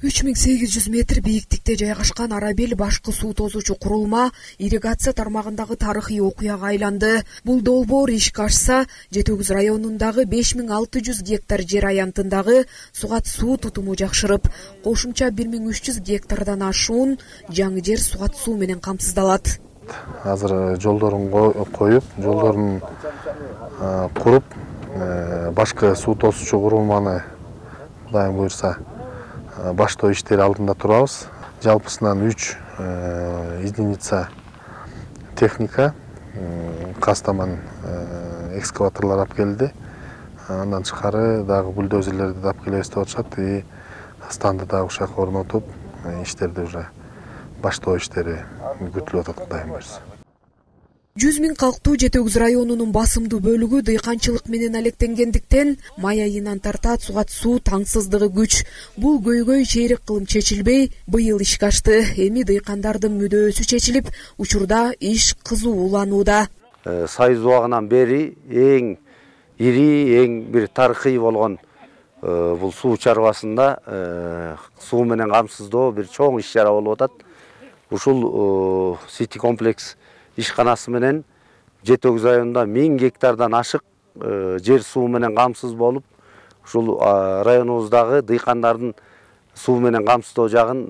3800 метр бийиктикте жайгашкан Арабел башкы суу тосуучу курулма ирригация тармагындагы тарыхый окуяга айланды. Бул долбоор ишке ашса, Жети Өгүз районундагы 5600 гектар жер аянтындагы сугат суу тутуму жакшырып, кошумча 1300 гектардан ашуун жаңы жер сугат суу менен камсыздалат. Азыр жолдорун коюп, жолдорун куруп, башкы суу тосуучу курулманы Кудайым буйрса баштоо иштери алдында турабыз. Жалпысынан 3 единица техника, кастаман экскаваторлор алып келди. Андан тышкары дагы бульдозерлерди да алып келебиз деп атышат. Станды дагы ушак орнотуп, иштерди уже баштоо иштери күтүлүп атат, Кудайым буйрса. 100 000 калктуу Жети Өгүз районунун басымдуу бөлүгү дыйканчылык менен алектенгендиктен май айынан тарта сугат суу таңсыздыгы күч. Бул көйгөй чейрек кылым чечилбей, быйыл ишке ашты. Эми дыйкандардын мүдөөсү чечилип, учурда иш кызуу уланууда. Союз убагынан бери эң ири, эң бир тарыхый болгон бул суу чарбасында суу менен камсыздоо бир чоң иш чара болуп атат. Ушул Сити комплекс ишканасы менен Жети Өгүз районунда 1000 гектардан ашык жер суу менен камсыз болуп, ушул районубуздагы дыйкандардын суу менен камсыздоо жагын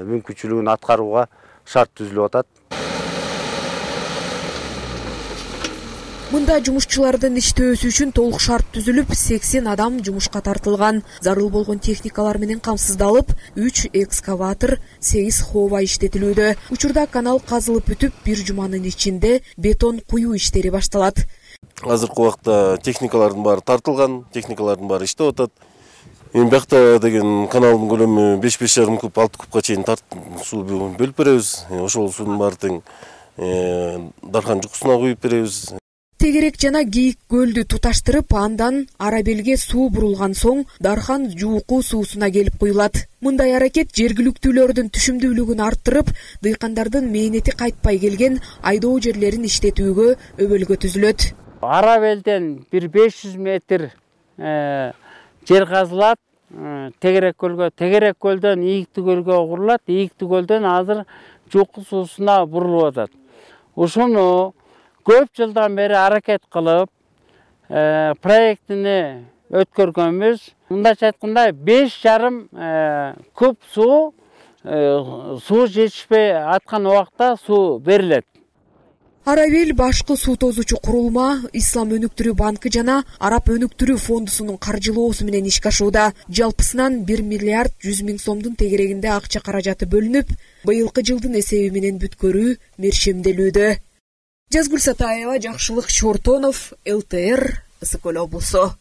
мүмкүнчүлүгүн аткарууга шарт түзүлүп атат. Мында жумушчулардын иштөөсү үчүн толук шарт түзүлүп, 80 адам жумушка тартылган. Зарыл болгон техникалар менен камсыздалып, 3 экскаватор, 8 хова иштетилүүдө. Учурда канал казылып бүтүп, бир жуманын ичинде бетон куюу иштери башталат. Азыркы убакта техникалардын баары тартылган, техникалардын баары иштеп атат. Эми бакта деген каналдын көлөмү 5,5 куб, 6 кубка чейин суу бөлүп беребиз. Ошол суунун баары тең дархан жукусуна куюп беребиз. Тегерек жана Кийик көлдү туташтырып, андан Арабелге суу бурулган соң Дархан жууку суусуна келип куюлат. Мындай аракет жергиликтүүлөрдүн түшүмдүүлүгүн арттырып, дыйкандардын мээнети кайтпай келген айдоо жерлерин иштетүүгө өбөлгө түзүлөт. Арабелден бир 500 метр жер казылат, Тегерек көлгө, Тегерек көлдөн Ийиктүү көлгө курулат, Ийиктүү көлдөн азыр жууку суусуна бурулуп атат. Ушуну көп жылдан бери аракет кылып, проектини өткөргөнбүз. Мындайча айтканда 5,5 куб суу жетишпей аткан убакта суу берилет. Арабел башкы суу тосуучу курулма Ислам өнүктүрүү банкы жана Араб өнүктүрүү фондусунун каржылоосу менен ишке ашууда. Жалпысынан 1 миллиард 100 000 сомдун тегерегинде акча каражаты бөлүнүп, быйылкы жылдын эсеби менен бүткөрүү мерчемделүүдө. Жазгүл Сатаева, Жакшылык Чортонов, ЛТР, Ысык Көл облусу.